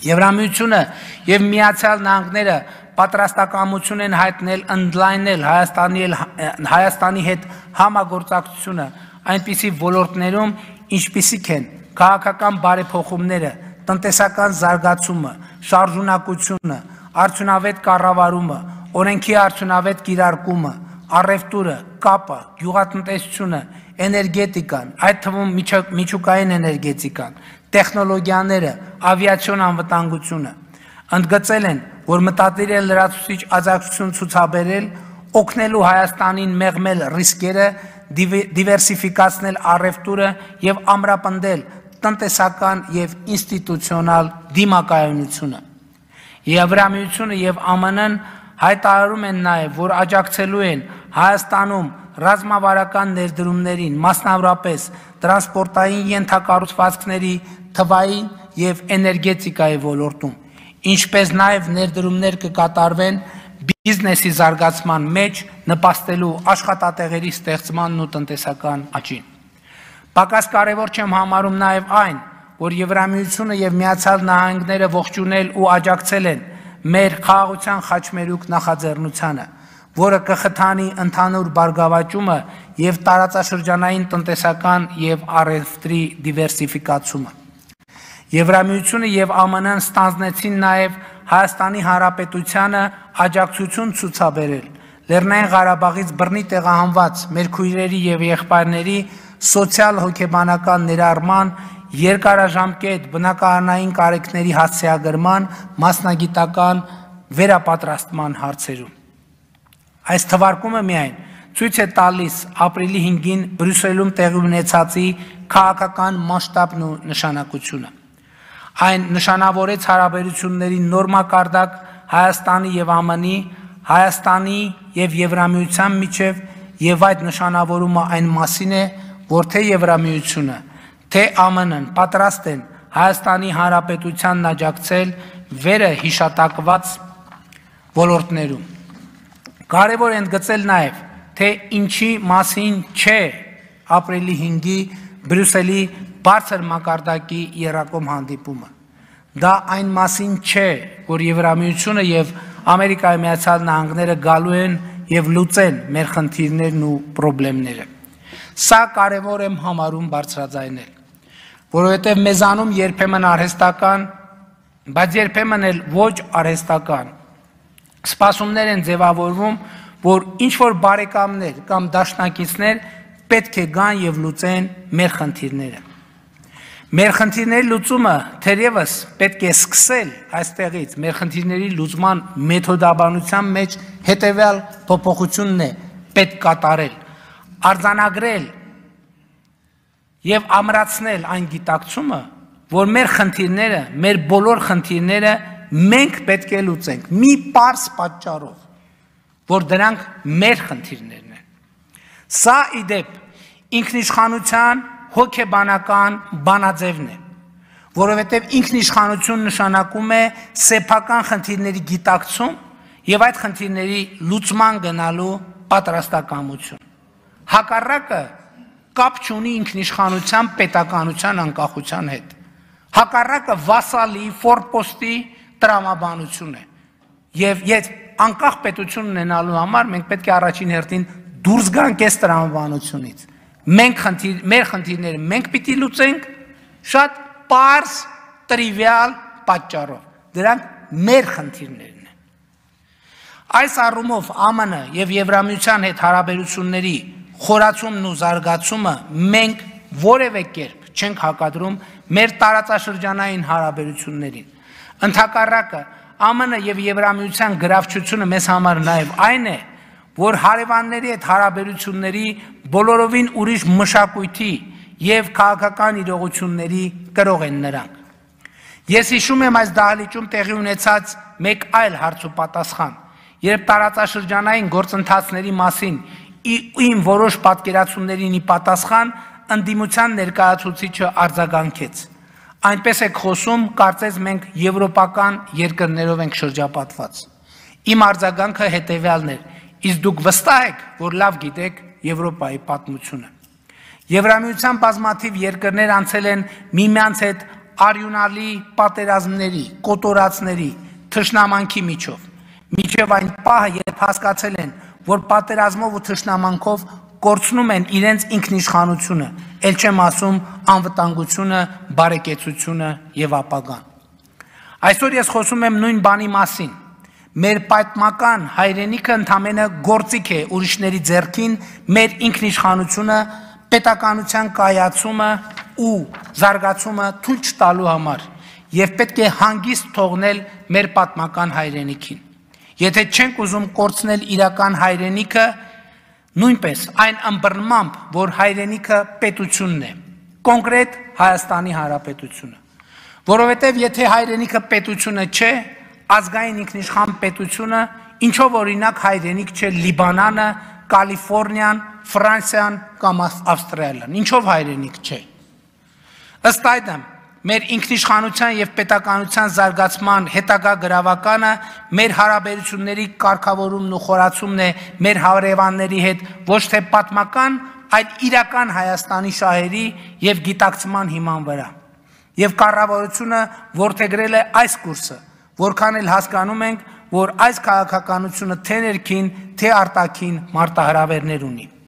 Եվրամիությունը եւ Միացյալ Նահանգները պատրաստակամություն են հայտնել ընդլայնել Հայաստանի հետ համագործակցությունը այնպիսի ոլորտներում, ինչպիսիք են քաղաքական բարեփոխումները, տնտեսական զարգացումը, շարժունակությունը, արդյունավետ կառավարումը, օրենքի արդյունավետ կիրարկումը, առևտուրը, կապը, գյուղատնտեսությունը, էներգետիկան, այդ թվում միջուկային էներգետիկան, տեխնոլոգիաները, ավիացիոն անվտանգությունը, ընդգծել են, որ մտադիր է լրացուցիչ աջակցություն ցուցաբերել, օգնելու Հայաստանին մեղմել ռիսկերը, դիվերսիֆիկացնել առևտուրը եւ ամրապնդել տնտեսական եւ ինստիտուցիոնալ դիմակայունությունը։ Եվրամիությունը եւ ԱՄՆ-ն հայտարարում են նաեւ, որ աջակցելու են Հայաստանում ռազմավարական ներդրումներին, մասնավորապես տրանսպորտային ենթակառուցվածքների, թվային եւ էներգետիկայի ոլորտում, ինչպես նաեւ ներդրումներ կկատարվեն բիզնեսի զարգացման մեջ, նպաստելու աշխատատեղերի ստեղծմանն ու տնտեսական աճին։ Պակաս կարևոր չեմ համարում նաեւ այն, որ Եվրամիությունը եւ Միացյալ Նահանգները ողջունել ու աջակցել են մեր խաղաղության խաչմերուկ նախաձեռնությանը, որը կխթանի ընդհանուր բարգավաճումը եւ տարածաշրջանային տնտեսական եւ առևտրի դիվերսիֆիկացումը։ Եվրամիությունը եւ ԱՄՆ-ն ստանձնեցին նաեւ Հայաստանի Հանրապետությանը աջակցություն ցուցաբերել Լեռնային Ղարաբաղից բռնի տեղահանված մեր քույրերի եւ եղբայրների սոցիալ-հոգեբանական ներառման, երկարաժամկետ բնակարանային կարիքների հասցեագրման, մասնագիտական վերապատրաստման հարցերում։ Այս թվարկումը միայն ցույց է տալիս ապրիլի 5-ին Բրյուսելում տեղի ունեցածի քաղաքական մասշտաբն ու նշանակությունը։ Այն նշանավորեց հարաբերությունների նոր մակարդակ Հայաստանի եւ ԱՄՆ-ի, Հայաստանի եւ Եվրամիության միջև եւ այդ նշանավորումը այն մասին է, որ թե Եվրամիությունը, թե ԱՄՆ-ն պատրաստ են Հայաստանի Հանրապետությանն աջակցել վերը հիշատակված ոլորտներում։ Կարևոր է ընդգծել նաեւ, թե ինչի մասին չէ ապրիլի 5-ի Բրյուսելի բարձր մակարդակի եռակոմ հանդիպումը։ Դա այն մասին չէ, որ Եվրամիությունը եւ Ամերիկայի Միացյալ Նահանգները գալու են եւ լուծեն մեր խնդիրներն ու խնդիրները։ Սա կարևոր եմ համարում բարձրաձայնել, որովհետեւ մեզանում երբեմն արհեստական, բայց երբեմն էլ ոչ արհեստական սպասումներ են ձևավորվում, որ ինչ-որ բարեկամներ կամ դաշնակիցներ պետք է գան եւ լուծեն մեր խնդիրները։ Մեր խնդիրների լուծումը թերևս պետք է սկսել այստեղից, մեր խնդիրների լուծման մեթոդաբանության մեջ հետևյալ փոփոխությունն է պետք կատարել, արձանագրել եւ ամրացնել այն գիտակցումը, որ մեր խնդիրները, մեր բոլոր խնդիրները մենք պետք է լուծենք մի պարզ պատճառով, որ դրանք մեր խնդիրներն են։ Սա իդեպ ինքնիշխանության հոգեբանական բանաձևն է, որովհետև ինքնիշխանություն նշանակում է սեփական խնդիրների գիտակցում եւ այդ խնդիրների լուծման գնալու պատրաստակամություն։ Հակառակը կապ չունի ինքնիշխանության պետականության անկախության հետ։ Հակառակը վասալի, ֆորպոստի տրամաբանություն է։ Եվ ես անկախ պետություն ունենալու համար մենք պետք է առաջին հերթին դուրս գանք այս տրամաբանությունից։ Մեր խնդիրները մենք պիտի լուծենք շատ պարզ, տրիվիալ պատճառով։ Դրանք մեր խնդիրներն են։ Այս առումով ԱՄՆ եւ Եվրամիության հետ հարաբերությունների խորացումն ու զարգացումը մենք որևէ կերպ չենք հակադրում մեր տարածաշրջանային հարաբերություններին։ Ընդհակառակը ԱՄՆ եւ Եվրամիության գրավչությունը մեզ համար նաեւ այն է, որ հարևանների հետ հարաբերությունների բոլորովին ուրիշ մշակույթի եւ քաղաքական իրողությունների կրող են նրանք։ Ես հիշում եմ այս դահլիճում տեղի ունեցած մեկ այլ հարց ու պատասխան, երբ տարածաշրջանային գործընթացների մասին իմ որոշ պատկերացումներին ի պատասխան ընդդիմության ներկայացուցիչը արձագանքեց։ Այնպես եք խոսում, կարծես մենք եվրոպական երկրներով ենք շրջապատված։ Իմ արձագանքը հետևյալն էր. իսկ դուք վստահ եք, որ լավ գիտեք Եվրոպայի պատմությունը։ Եվրամիության բազմաթիվ երկրներ անցել են միմյանց հետ արյունալի պատերազմների, կոտորածների, թշնամանքի միջև այն պահը, երբ հասկացել են, որ պատերազմով ու թշնամանքով կորցնում են իրենց ինքնիշխանությունը, ել չեմ ասում անվտանգությունը, բարեկեցությունը եւ ապագան։ Այսօր ես խոսում եմ նույն բանի մասին։ Մեր պատմական հայրենիքը ընդամենը գործիք է ուրիշների ձեռքին մեր ինքնիշխանությունը, պետականության կայացումը ու զարգացումը թույլ չտալու համար եւ պետք է հանգիստ թողնել մեր պատմական հայրենիքին։ Եթե չենք ուզում կորցնել իրական հայրենիքը, նույնպես այն ըմբռնմամբ, որ հայրենիքը պետությունն է, կոնկրետ Հայաստանի Հանրապետությունը, որովհետև եթե հայրենիքը պետությունը չէ, ազգային ինքնիշխան պետությունը, ինչով օրինակ հայրենիք չէ Լիբանանը, Կալիֆոռնիան, Ֆրանսիան կամ Ավստրալիան, ինչով հայրենիք չէ։ Ըստ այդմ, մեր ինքնիշխանության եւ պետականության զարգացման հետագա գրավականը մեր հարաբերությունների կարգավորումն ու խորացումն է մեր հարևանների հետ ոչ թե պատմական, այլ իրական Հայաստանի շահերի եւ գիտակցման հիման վրա։ Եվ կառավարությունը որդեգրել է այս կուրսը, որքան էլ հասկանում ենք, որ այս քաղաքականությունը թե ներքին, թե արտաքին մարտահրավերներ ունի։